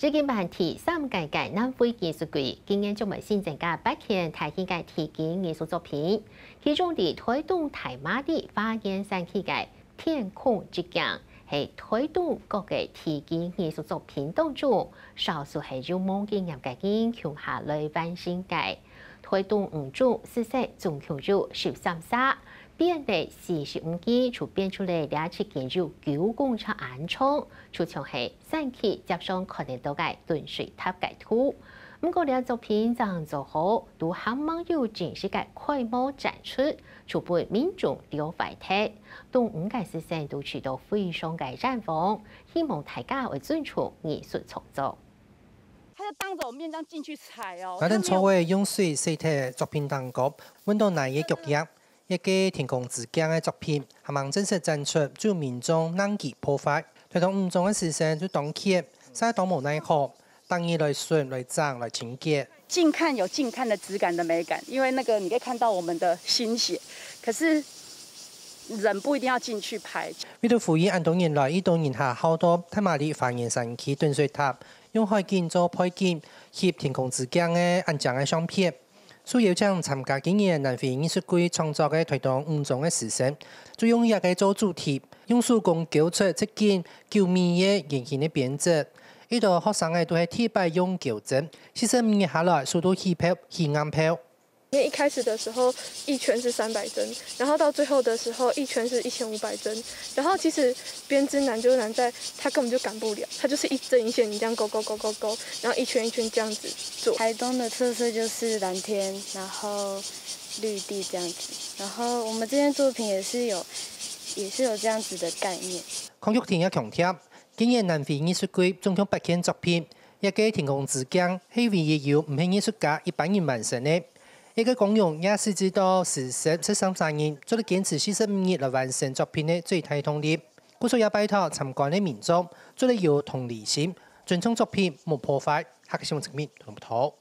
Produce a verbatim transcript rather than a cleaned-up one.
已經辦第三屆个南非藝術季，今年將會新增加八件大型个地景藝術作品，其中在台東大馬里花園展區个天空之鏡，係台東各个地景藝術作品當中，少數係有無經驗个人共下來完成个。台東五中師生總共有十三儕，編列四十五支，就編出來這七件有九公尺恁長，就像係 山區輒常看得到个斷水塔个圖。毋過，這作品正做好，都還吂有正式个開幕展出，就分民眾了解忒。東五个師生都試著非常个難忘，希望大家會尊重藝術創作。他就當着我面這樣進去踩哦。𠊎等做个用水洗忒作品當中，搵到泥个腳印， 一个天空之鏡个作品，還吂正式展出，就民眾硬去破壞。台東五中个師生就當譴，實在當無奈何，逐日來巡、來整、來清潔。近看有近看的質感的美感，因為那個你可以看到我們的心血，可是人不一定要進去拍。為著呼籲恁多人來，已多人下好到大馬里花園山區斷水塔，用海景做背景，翕天空之鏡个恁靚个相片。 受邀請參加今年南非藝術季創作个台東五中个師生，就用這个做主題，用手工鉤出七根九米个圓形个編織。一兜學生仔都係第一擺用鉤針，四十五日下來，手都起泡、起硬泡。因為一開始的時候一圈是三百針，然後到最後的時候一圈是一千五百針，然後其實編織難就難在它根本就趕不了，它就是一針一線，你這樣勾勾勾勾勾，然後一圈一圈這樣子做。台東的特色就是藍天，然後綠地這樣子，然後我們這件作品也是有，也是有這樣子的概念。康玉婷也強調，今年南非藝術季總共八件作品，這个天空之鏡係唯一由毋係藝術家一般人完成个。這个光榮也係指到師生十三儕人做得堅持四十五日來完成作品个最大動力。故所也拜託參觀个民眾做得有同理心，尊重作品，莫破壞。客家新聞陳明報導。